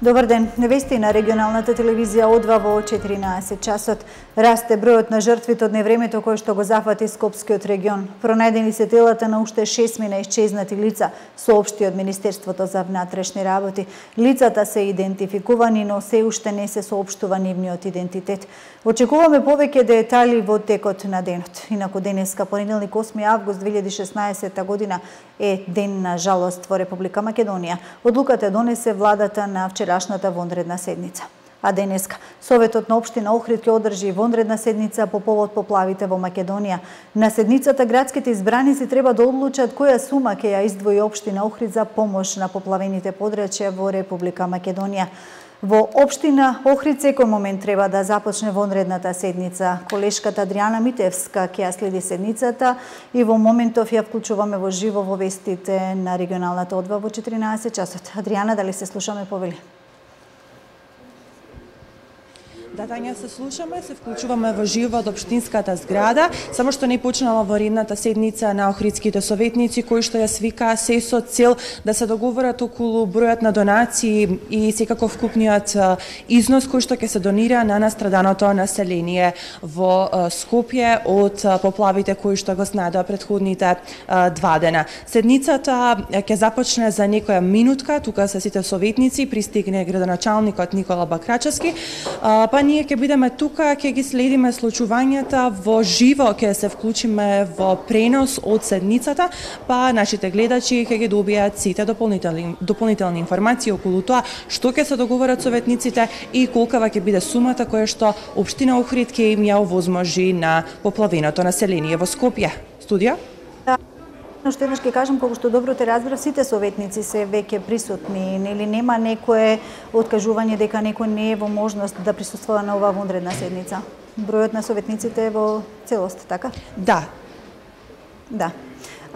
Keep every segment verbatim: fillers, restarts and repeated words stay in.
Добар ден. Вести на регионалната телевизија одва во четиринаесет часот. Расте бројот на жртвите од невремето кој што го зафати Скопскиот регион. Пронајдени се телата на уште шестмина исчезнати лица, соопшти од Министерството за внатрешни работи. Лицата се идентификувани, но се уште не се соопштува нивниот идентитет. Очекуваме повеќе детали во текот на денот. Инаку денеска, понеделник осми август две илјади и шеснаесетта година, е ден на жалост во Република Македонија. Одлуката донесе владата на вчерашната вонредна седница. А денеска, Советот на општина Охрид ќе одржи вонредна седница по повод поплавите во Македонија. На седницата градските избраници треба да одлучат која сума ќе ја издвои општина Охрид за помош на поплавените подрачја во Република Македонија. Во општина Охрид секој момент треба да започне вонредната седница. Колешката Адријана Митевска ќе ја следи седницата и во моментов ја вклучуваме во живо во вестите на регионалната одва во четиринаесет часот. Адријана, дали се слушаме, повели? Да, Тања, се слушаме, се вклучуваме во живо од општинската зграда, само што не почнала воредната седница на охридските советници, кои што ја свика се со цел да се договорат околу бројот на донации и секако вкупниот износ кој што ќе се донира на настраданото население во Скопје од поплавите кои што го снадоа претходните два дена. Седницата ќе започне за некоја минутка, тука се сите советници, пристигне градоначалникот Никола Бакрачевски, па ние ќе бидеме тука, ќе ги следиме случувањата во живо, ќе се вклучиме во пренос од седницата, па нашите гледачи ќе ги добијат сите дополнителни, дополнителни информации околу тоа што ќе се договорат советниците и колкава ќе биде сумата која што општина Охрид ќе им ја овозможи на поплавеното население во Скопје. Студија? Но што еднаш ќе кажам, колку што добро те разбрав, сите советници се веќе присутни, нели нема некое откажување дека некој не е во можност да присуствува на оваа вонредна седница? Бројот на советниците е во целост, така? Да. Да.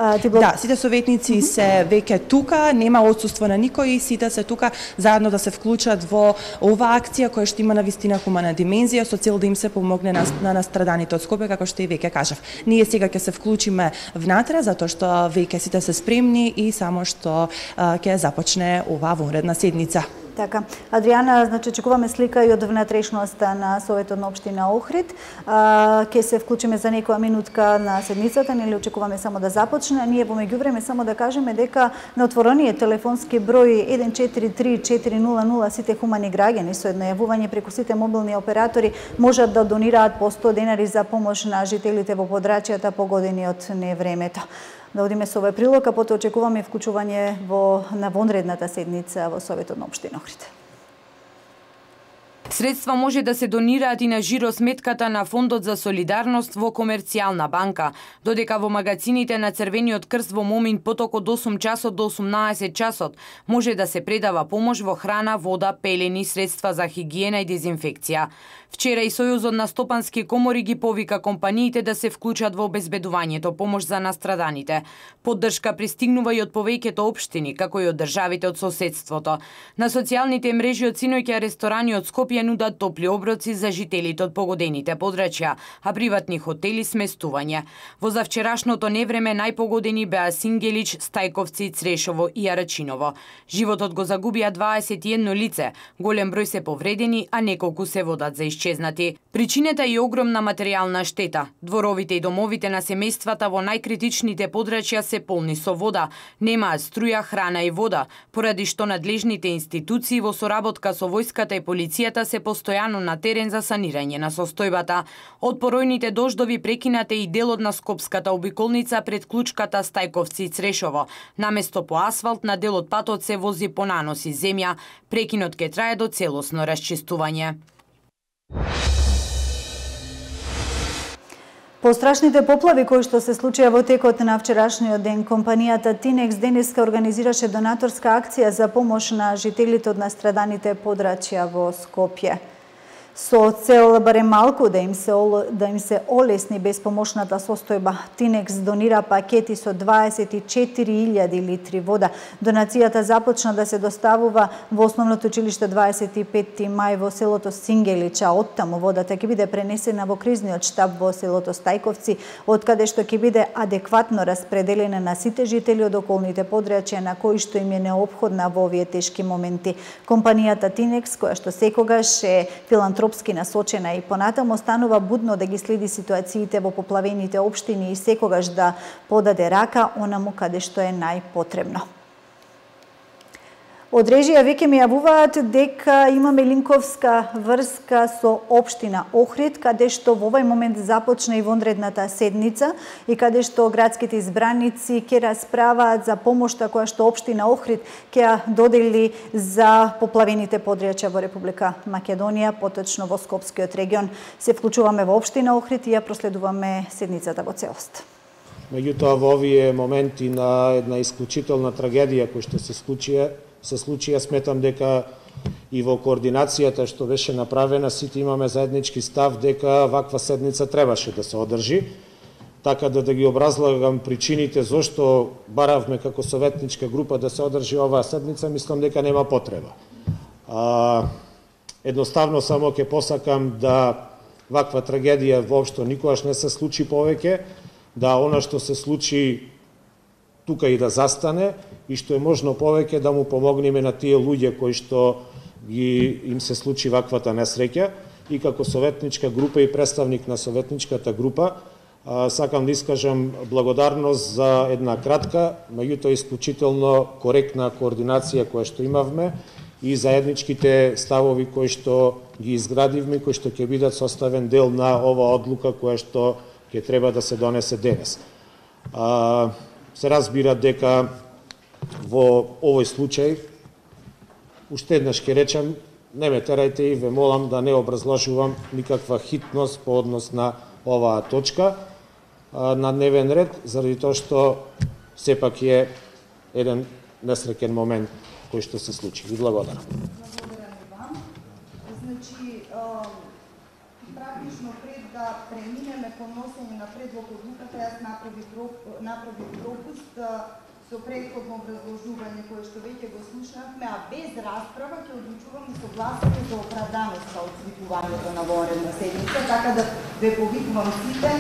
Бл... Да, сите советници mm -hmm. се веќе тука, нема отсуство на никој и сите се тука заедно да се вклучат во оваа акција која што има навистина хумана димензија со цел да им се помогне на, на настраданите од Скопје, како што и веќе кажав. Ние сега ќе се вклучиме внатре затоа што веќе сите се спремни и само што а, ќе започне оваа вонредна седница. Така. Адријана, значи очекуваме слика и од внатрешноста на Советот на општина Охрид. А, ке се вклучиме за некоја минутка на седницата, нели очекуваме само да започне. Ние во меѓувреме само да кажеме дека на отворениот телефонски број еден четири три четири нула нула сите хумани граѓани со едно јавување преку сите мобилни оператори можат да донираат по сто денари за помош на жителите во подрачјата погодени од невремето. Да одиме со овој прилог, а потоа очекуваме вклучување во на вонредната седница во Советот на општина Охрид. Средства може да се донираат и на жиросметката на Фондот за солидарност во Комерцијална банка, додека во магазините на Црвениот крст во момент поток од осум часот до осумнаесет часот може да се предава помош во храна, вода, пелени, средства за хигиена и дезинфекција. Вчера и Сојузот на стопански комори ги повика компаниите да се вклучат во обезбедувањето помош за настраданите. Поддршка пристигнува и од повеќето општини, како и од државите од соседството. На социјалните мрежи од синоќа ресторани од Скопје нудат топли оброци за жителите од погодените подрачја, а приватни хотели сместување. Во завчерашното невреме најпогодени беа Сингелич, Стајковци, Црешово и Арачиново. Животот го загубија дваесет и едно лице, голем број се повредени, а неколку се водат за исчезнати. Причината е огромна материјална штета. Дворовите и домовите на семејствата во најкритичните подрачја се полни со вода, немаат струја, храна и вода, поради што надлежните институции во соработка со војската и полицијата се постојано на терен за санирање на состојбата. Од поројните дождови прекинате и делот на Скопската обиколница пред клучката Стајковци и Црешово. Наместо по асфалт на делот патот се вози по наноси земја. Прекинот ќе трае до целосно расчистување. По страшните поплави кои што се случија во текот на вчерашниот ден, компанијата Тинекс денеска организираше донаторска акција за помош на жителите од настраданите подрачја во Скопје. Со цел барем малку да им се да им се олесни безпомошната состојба, Тинекс донира пакети со дваесет и четири илјади литри вода. Донацијата започна да се доставува во основното училиште дваесет и петти мај во селото Сингелича. Оттаму водата ќе биде пренесена во кризниот штаб во селото Стајковци, од каде што ќе биде адекватно распределена на сите жители од околните подрачја на кои што им е неопходна во овие тешки моменти. Компанијата Тинекс, која што секогаш е филантропски насочена и понатаму, останува будно да ги следи ситуациите во поплавените општини и секогаш да подаде рака онаму каде што е најпотребно. Од режија веќе ми јавуваат дека имаме линковска врска со општина Охрид, каде што во овој момент започна и вонредната седница и каде што градските избраници ќе расправаат за помошта која што општина Охрид ќе ја додели за поплавените подрачја во Република Македонија, поточно во Скопскиот регион. Се вклучуваме во општина Охрид и ја проследуваме седницата во целост. Меѓутоа, во овие моменти на една исклучителна трагедија која што се случија, се случија, сметам дека и во координацијата што беше направена, сите имаме заеднички став дека ваква седница требаше да се одржи, така да да ги образлагам причините зошто баравме како советничка група да се одржи оваа седница, мислам дека нема потреба. А, едноставно само ќе посакам да ваква трагедија воопшто никогаш не се случи повеќе, да она што се случи тука и да застане и што е можно повеќе да му помогнеме на тие луѓе кои што ги им се случи ваквата несреќа. И како советничка група и представник на советничката група сакам да искажам благодарност за една кратка, меѓутоа исклучително коректна координација која што имавме и заедничките ставови кои што ги изградивме, кои што ќе бидат составен дел на ова одлука која што ќе треба да се донесе денес. А, се разбира дека во овој случај, уште еднаш ќе речем, не ме терајте и ве молам да не образложувам никаква хитност по однос на оваа точка а, на дневен ред, заради тоа што сепак е еден несреќен момент кој што се случи. Ви благодарам. Благодарам и вам. Значи, практично пред да преминеме по носење на предлог одлуката, јас направи пропуст со претходно образложување кое што веќе го слушнавме, а без расправа ќе одлучуваме согласие за оправданост од свикувањето на вонредна седница, така да ве повикувам сите,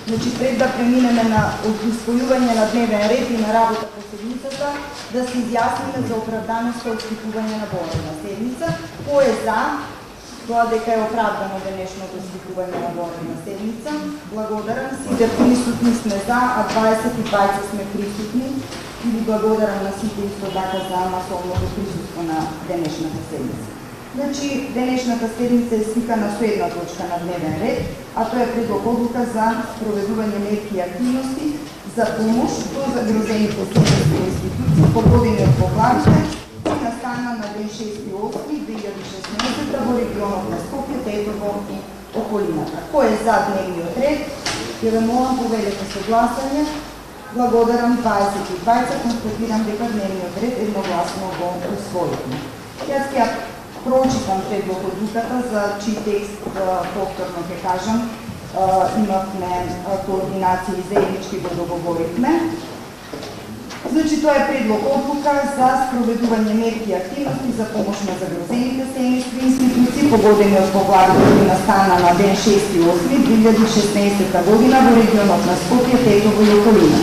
значи пред да преминеме на усвојување на дневен ред и на работа по седницата, да се изјасниме за оправданост од свикување на вонредна седница, кој е за тоа дека е оправдано денешното свикување на вонредна седница. Благодарам, сите присутни сме за, а дваесет и двајца сме присутни. И ви благодарам на сите исто така за масовното присуство на денешната седница. Значи, денешната седница е свикана со една точка на дневен ред, а тоа е предлог одлука за проведување мерки и активности за помош до загрозените секторски институции погодени од поплавите и настана на ден шести осми две илјади и шеснаесетта во регионот на Скопје, Тетово и околината. Кој е за дневниот ред? Ќе ве молам поведете со гласање. Благодарам, дваесет и двајца, констатирам дека дневниот ред едногласно го усвоивме. Јас ќе прочитам предлог одлуката, за чиј текст повторно ќе кажам, имавме координација и заеднички го договоривме. Значи, тоа е предлог одлука за спроведување мерки и активности за помош на загрозените семејства и институции погодени од поплавите кои настана на ден шести осми две илјади и шеснаесетта година во регионот на Скопје, Тетово и околина.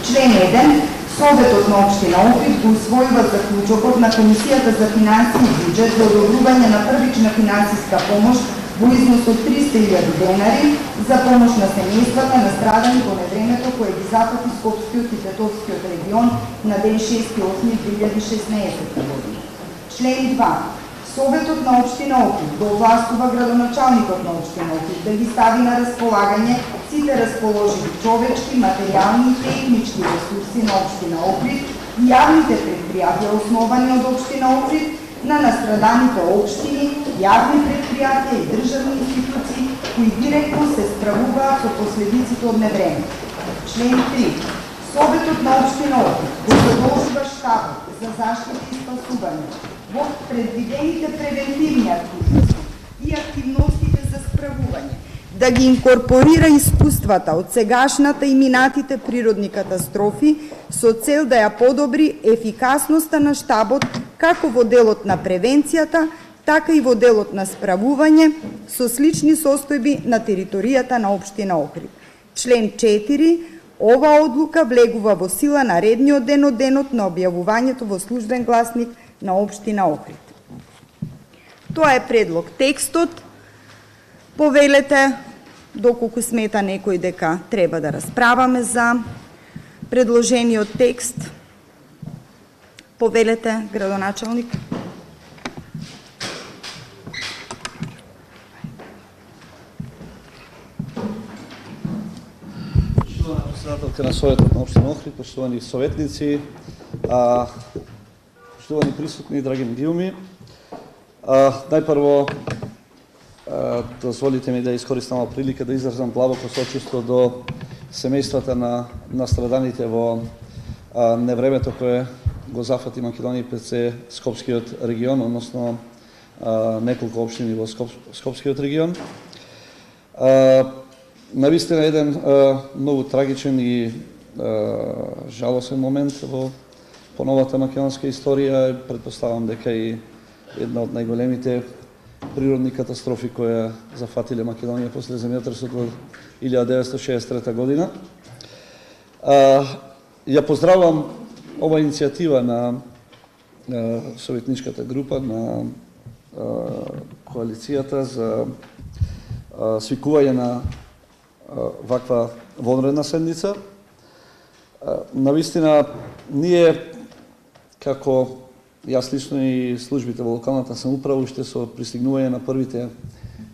Член еден. Советот на општина Охрид го усвојува заклучокот на Комисијата за финансии и буџет за одобрување на првична финансиска помош во износ од триста илјади денари за помош на семејствата настрадани во невремето кое ги зафати Скопскиот и Тетовскиот регион на ден шести осми две илјади и шеснаесетта година. Член два. Советот на општина Охрид го овластува градоначалникот на општина Охрид да ги стави на располагање сите расположени човечки, материјални и технички ресурси на општина Охрид и јавните предпријатија основани од општина Охрид на настраданите општини, јавни предпријатија и државни институции кои директно се справуваат со последиците од невреме. Член три. Советот на општина Охрид го задолжува штабот за заштита и спасување во предвидените превентивни активности и активности да ги инкорпорира искуствата од сегашната и минатите природни катастрофи со цел да ја подобри ефикасноста на штабот како во делот на превенцијата, така и во делот на справување со слични состојби на територијата на општина Охрид. Член четири. Ова одлука влегува во сила наредниот ден од денот на објавувањето во службен гласник на општина Охрид. Тоа е предлог. Текстот, повелете, доколку смета некој дека треба да расправаме за предложениот текст. Повелете, градоначалник. Председателка на Советот на општина Охрид, поштовани советници, а, поштовани присутни, драги медиуми. А, најпрво, а, дозволите ми да искористам прилика да изразам длабоко сочувство до семејствата на настраданите во а, невремето кое го зафати Македонија и ПЦ Скопскиот регион, односно а, неколку општини во Скоп, Скопскиот регион. А, Навистина еден а, многу трагичен и а, жалосен момент во поновата македонска историја. Предпоставам дека и една од најголемите природни катастрофи која зафатиле Македонија после земјотресот во илјада деветстотини шеесет и трета година. А, ја поздравам ова иницијатива на а, советничката група на а, коалицијата за а, свикување на ваква вонредна седница. Навистина, ние, како јас лично и службите во локалната самоуправа, уште со пристигнување на првите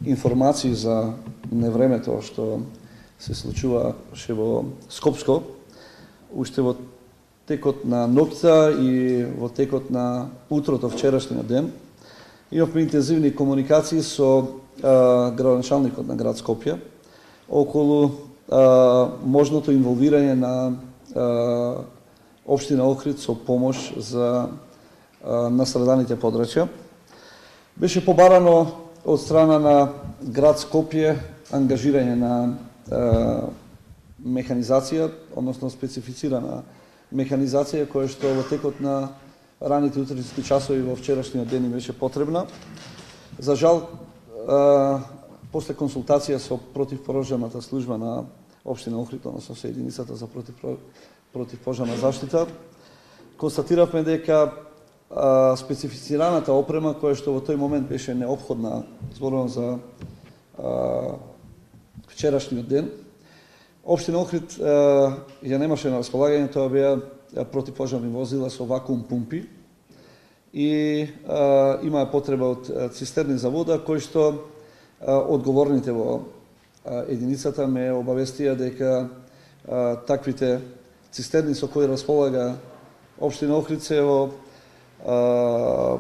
информации за невремето што се случуваше во Скопско, уште во текот на ноќта и во текот на утрото вчерашниот ден, имавме интензивни комуникации со а, градоначалникот на град Скопје околу а, можното инволвирање на а, општина Охрид со помош за а, настраданите подрачја. Беше побарано од страна на град Скопје ангажирање на а, механизација, односно специфицирана механизација која што во текот на раните утрински часови во вчерашниот ден беше потребна. За жал, а, после консултација со противпожарната служба на општина Охрид, односно со единицата за против, противпожарна заштита, констатиравме дека а, специфицираната опрема која што во тој момент беше неопходна, зборувам за а, вчерашниот ден, општина Охрид а, ја немаше на располагање. Тоа беа противпожарни возила со вакуум пумпи и а, имаа потреба од цистерни за вода, кои што одговорните во единицата ме обавестија дека а, таквите цистерни со кои располага општина Охрид се во а,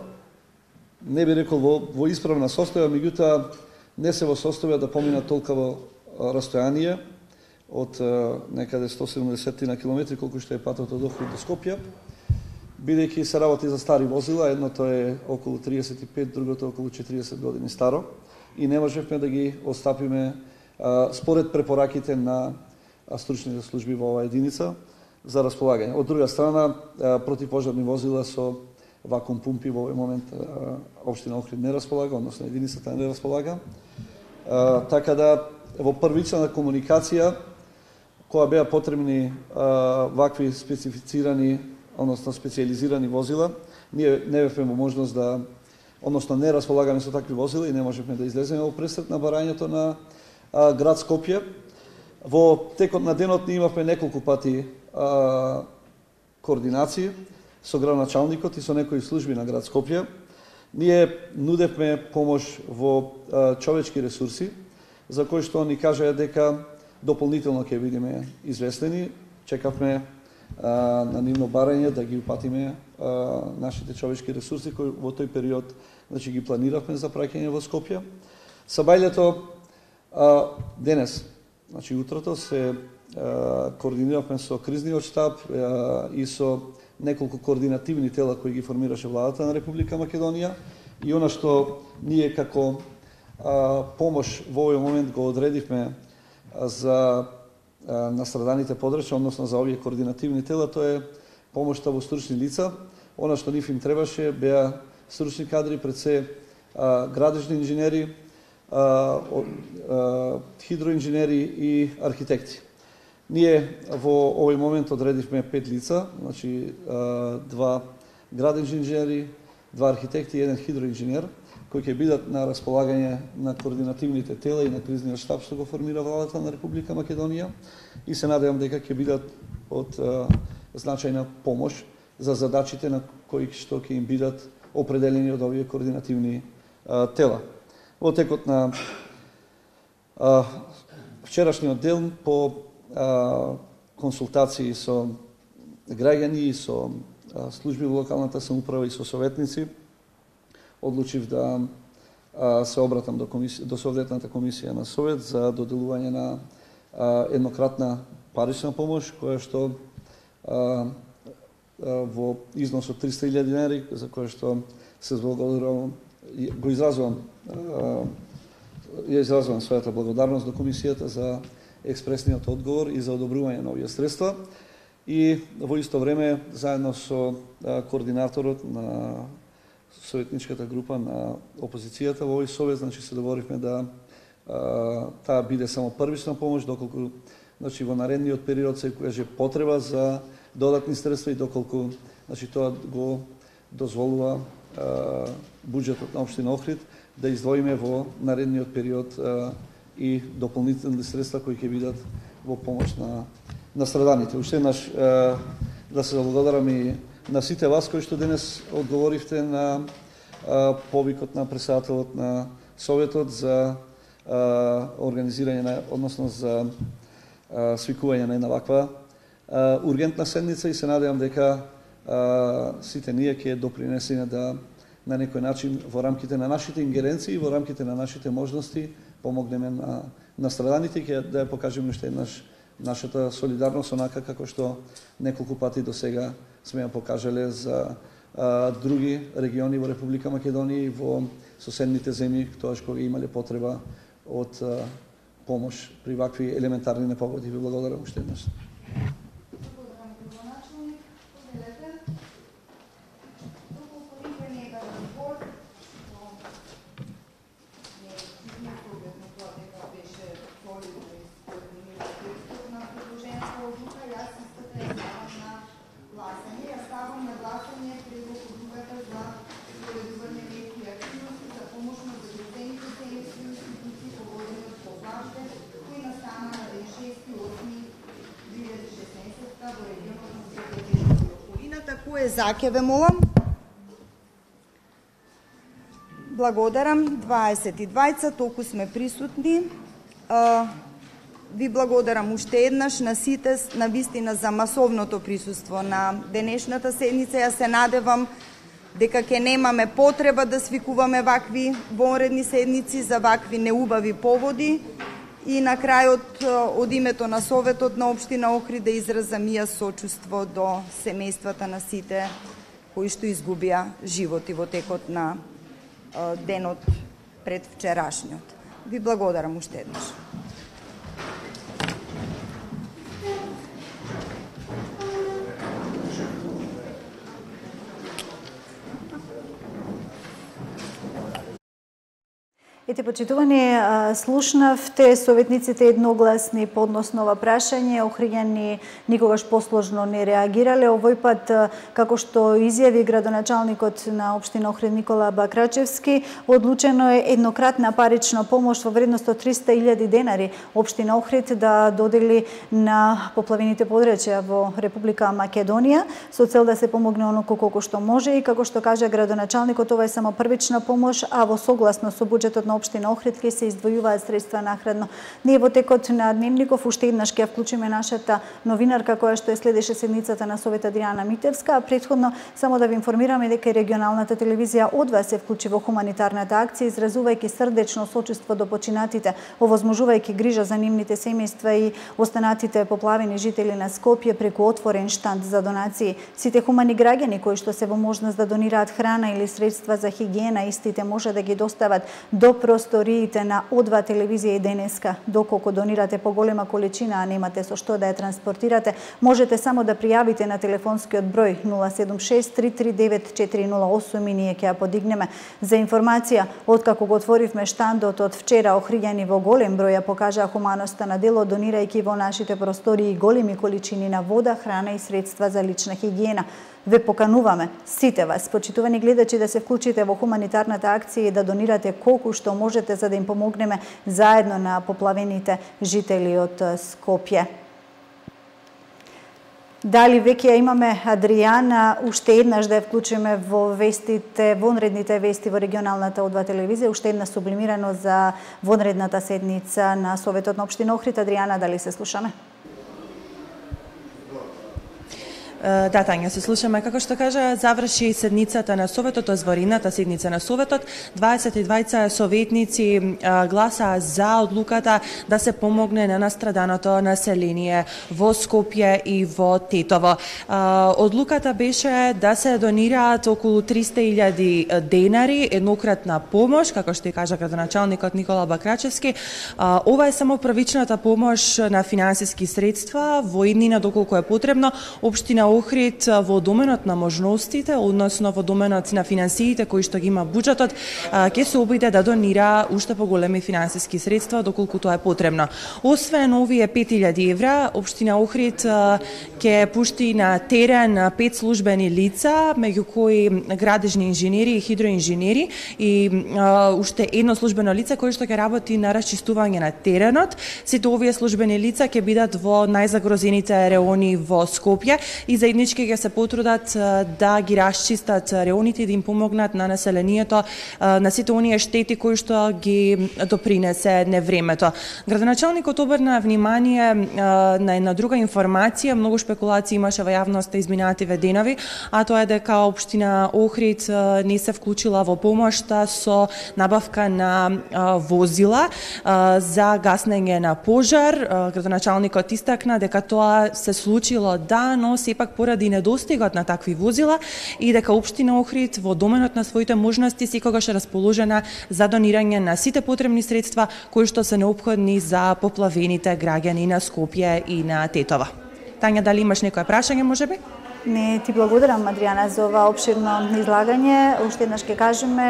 не би рекол во, во исправна состојба, меѓутоа не се во состојба да поминат толкаво растојание од а, некаде сто седумдесет на километри, колку што е патот од Охрид до Скопје, бидејќи се работи за стари возила, едното е околу триесет и пет, другото околу четириесет години старо, и не можевме да ги остапиме а, според препораките на а, стручните служби во оваа единица за располагање. Од друга страна, а, противпожарни возила со вакуум пумпи во овој момент а, општина Охрид не располага, односно единицата не располага. А, така да, во првична комуникација, која беа потребни а, вакви специфицирани, односно специализирани возила, ние не бевме во можност да, односно не располагаме со такви возила и не можевме да излеземе во пресрет на барањето на а, град Скопје. Во текот на денот ние имавме неколку пати а, координации со градоначалникот и со некои служби на град Скопје. Ние нудевме помош во а, човечки ресурси, за кои што ни кажаа дека дополнително ќе бидеме известени. Чекавме а, на нивно барање да ги упатиме а, нашите човечки ресурси кои во тој период, значи, ги планиравме за праќање во Скопје. Сабајлето а, денес, значи утрото, се а, координиравме со кризниот штаб а, и со неколку координативни тела кои ги формираше владата на Република Македонија, и она што ние како помош во овој момент го одредивме за настраданите подрачја, односно за овие координативни тела, тоа е помошта во стручни лица. Она што нив им требаше беа стручни кадри, пред се градежни инженери, хидроинженери и архитекти. Ние во овој момент одредивме пет лица, значи два градежни инженери, два архитекти и еден хидроинженер, кои ќе бидат на располагање на координативните тела и на кризниот штаб што го формира владата на Република Македонија, и се надевам дека ќе бидат од значајна помош за задачите на кои што ќе им бидат определени од овие координативни тела. Во текот на вчерашниот ден, по консултации со граѓани и со служби во локалната самоуправа и со советници, одлучив да се обратам до, комисија, до Советната комисија на Совет за доделување на еднократна парична помош, која што во износ од триста илјади денари, за која што се зблагодарувам, го изразувам, ја изразувам својата благодарност до комисијата за експресниот одговор и за одобрување на овие средства. И во исто време, заедно со координаторот на советничката група на опозицијата во овој совет, значи се договоривме да таа биде само првична помош, доколку значи во наредниот период се каже потреба за додатни средства и доколку значи тоа го дозволува буџетот на општина Охрид да издвоиме во наредниот период и дополнителни средства кои ќе бидат во помош на настраданите. Уште еднаш да се заблагодарам и на сите вас кои што денес одговоривте на повикот на претседателот на Советот за организирање на, односно за свикување на една ваква ургентна седница, и се надевам дека сите ние ќе допринесеме да на некој начин во рамките на нашите ингеренции, во рамките на нашите можности помогнеме на настраданите и ќе да ја покажеме уште еднаш нашата солидарност, онака како што неколку пати до сега сме ја покажале за а, други региони во Република Македонија и во соседните земји, тоаш кога имале потреба од а, помош при вакви елементарни непогоди. Ви благодарам уште еднаш. Кој е за, ке ве молам? Благодарам. дваесет и двајца, толку сме присутни. Ви благодарам уште еднаш на сите, на вистина за масовното присуство на денешната седница. Ја се надевам дека ќе немаме потреба да свикуваме вакви вонредни седници за вакви неубави поводи. И на крајот, од името на Советот на општина Охрид, да изразам и јас сочувство до семејствата на сите кои што изгубија животи во текот на денот пред вчерашниот. Ви благодарам уште еднаш. Ете, почитувани, слушнавте советниците едногласни подносно ова прашање, охриѓани никогаш посложно не реагирале. Овој пат, како што изјави градоначалникот на општина Охрид Никола Бакрачевски, одлучено е еднократна парична помош во вредност од триста илјади денари општина Охрид да додели на поплавените подрачја во Република Македонија, со цел да се помогне оноко колку што може, и како што кажа градоначалникот, ова е само првична помош, а во согласно со буџетот на општина Охрид ќе се издвојуваат средства накрадно. Ние во текот на Дневников уште еднаш ќе вклучиме нашата новинарка која што е следеше седницата на Совета Адријана Митевска, а претходно само да ви информираме дека регионалната телевизија од вас се вклучи во хуманитарната акција, изразувајќи срдечно сочувство до починатите, овозможувајќи грижа за нивните семејства и останатите поплавени жители на Скопје преку отворен штанд за донации. Сите хумани граѓани кои што се во можност да донираат храна или средства за хигиена, истите може да ги достават до просториите на О два телевизија и денеска. Доколку донирате поголема количина, а немате со што да ја транспортирате, можете само да пријавите на телефонскиот број нула седум шест три три девет четири нула осум и ние ќе ја подигнеме. За информација, откако го отворивме штандот од вчера, охриѓани во голем број ја покажаа хуманоста на дело, донирајќи во нашите простории големи количини на вода, храна и средства за лична хигиена. Ве покануваме сите вас, почитувани гледачи, да се вклучите во хуманитарната акција и да донирате колку што можете за да им помогнеме заедно на поплавените жители од Скопје. Дали веќе ја имаме Адријана, уште еднаш да ја вклучиме во вестите, вонредните вести во регионалната О два телевизија, уште една сублимирано за вонредната седница на Советот на општина Охрид. Адријана, дали се слушаме? Да, Тања, се слушаме. Како што кажа, заврши седницата на Советот, озворената седница на Советот. дваесет и двајца советници гласаа за одлуката да се помогне на настраданото население во Скопје и во Тетово. Одлуката беше да се донираат околу триста илјади денари, еднократна помош, како што и кажа градоначалникот Никола Бакрачевски. Ова е само првичната помош на финансиски средства во иднина доколку е потребно. Општина Охрид во доменот на можностите, односно во доменот на финансиите кои што ги има буџетот, ќе се обиде да донира уште поголеми финансиски средства доколку тоа е потребно. Освен овие пет илјади евра, општина Охрид ќе пушти на терен пет службени лица, меѓу кои градежни инженери и хидроинженери и уште едно службено лице кое што ќе работи на расчистување на теренот. Сите овие службени лица ќе бидат во најзагрозените реони во Скопје и заеднички ќе се потрудат да ги расчистат реоните и да им помогнат на населението на сите оние штети кои што ги допринесе невремето. Градоначалникот обрна внимание на една друга информација, многу шпекулации имаше во јавноста изминативе денови, а тоа е дека општина Охрид не се вклучила во помошта со набавка на возила за гаснење на пожар. Градоначалникот истакна дека тоа се случило да, но сепак поради недостигот на такви возила и дека општина Охрид во доменот на своите можности секогаш е расположена за донирање на сите потребни средства кои што се неопходни за поплавените граѓани на Скопје и на Тетово. Тања, дали имаш некое прашање, можеби? Не, ти благодарам, Адријана, за ова обширно излагање. Уште еднаш ќе кажеме,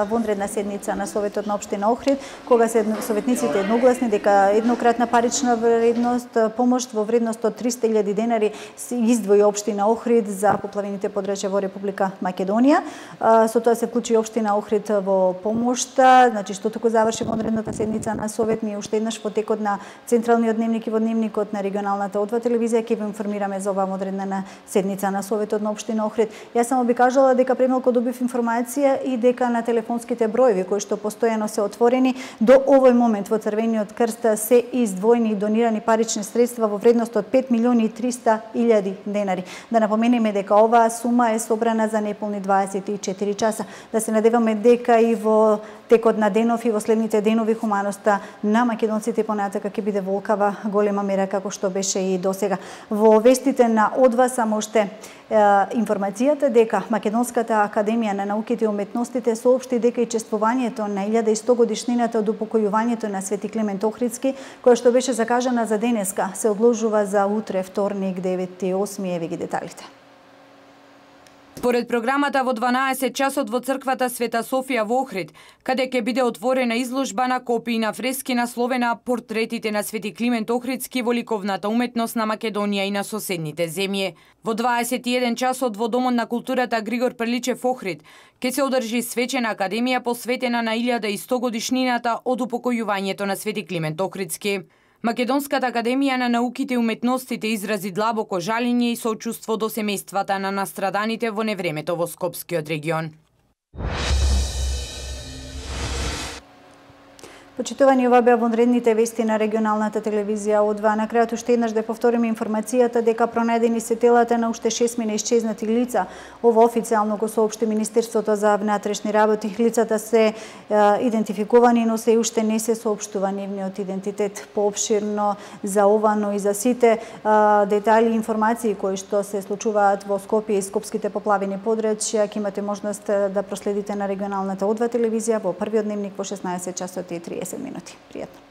вонредна седница на Советот на општина Охрид, кога се советниците едногласни дека еднократна парична вредност, помош во вредност од триста илјади денари се издвои општина Охрид за поплавените подрачја во Република Македонија. Со тоа се вклучи општина Охрид во помошта, значи што току заврши вонредната седница на Совет, ние уште еднаш во текот на централниот дневник и во дневникот на регионалната О два телевизија ќе ве информираме за оваа вонредна седница на Советот на општина Охрид. Јас само би кажала дека премалку добив информација и дека на телефонските броеви кои што постојано се отворени до овој момент во Црвениот крст се издвоени и донирани парични средства во вредност од пет милиони и триста илјади денари. Да напоменеме дека оваа сума е собрана за неполни дваесет и четири часа. Да се надеваме дека и во текот на денов и во следните денови хуманоста на македонците понатака ќе биде волкава голема мера како што беше и досега. Во вестите на О два само уште информацијата дека Македонската академија на науките и уметностите соопшти дека и чествувањето на илјада и сто годишнината од упокојувањето на Свети Климент Охридски, која што беше закажана за денеска, се одложува за утре, вторник, девети и осми. Еве ги деталите. Според програмата во дванаесет часот во црквата Света Софија во Охрид, каде ќе биде отворена изложба на копии на фрески насловена Портретите на Свети Климент Охридски во ликовната уметност на Македонија и на соседните земји. Во дваесет и еден часот во Домот на културата Григор Прличев Охрид ќе се одржи свечена академија посветена на илјада и сто годишнината од упокојувањето на Свети Климент Охридски. Македонската академија на науките и уметностите изрази длабоко жалење и соучувство до семејствата на настраданите во невремето во Скопскиот регион. Почитувани, ова беа вонредните вести на регионалната телевизија О два. На крајот уште еднаш да повториме информацијата дека пронајдени се телата на уште шестмина исчезнати лица. Ова официјално го соопшти Министерството за внатрешни работи. Лицата се е, идентификувани, но се уште не се соопштува нивниот идентитет. Поопширно за ова, но и за сите е, детали и информации кои што се случуваат во Скопје и скопските поплавени подрачја, ќе имате можност да проследите на регионалната О два телевизија во првиот дневник во шеснаесет часот и триесет минути. Пријатно.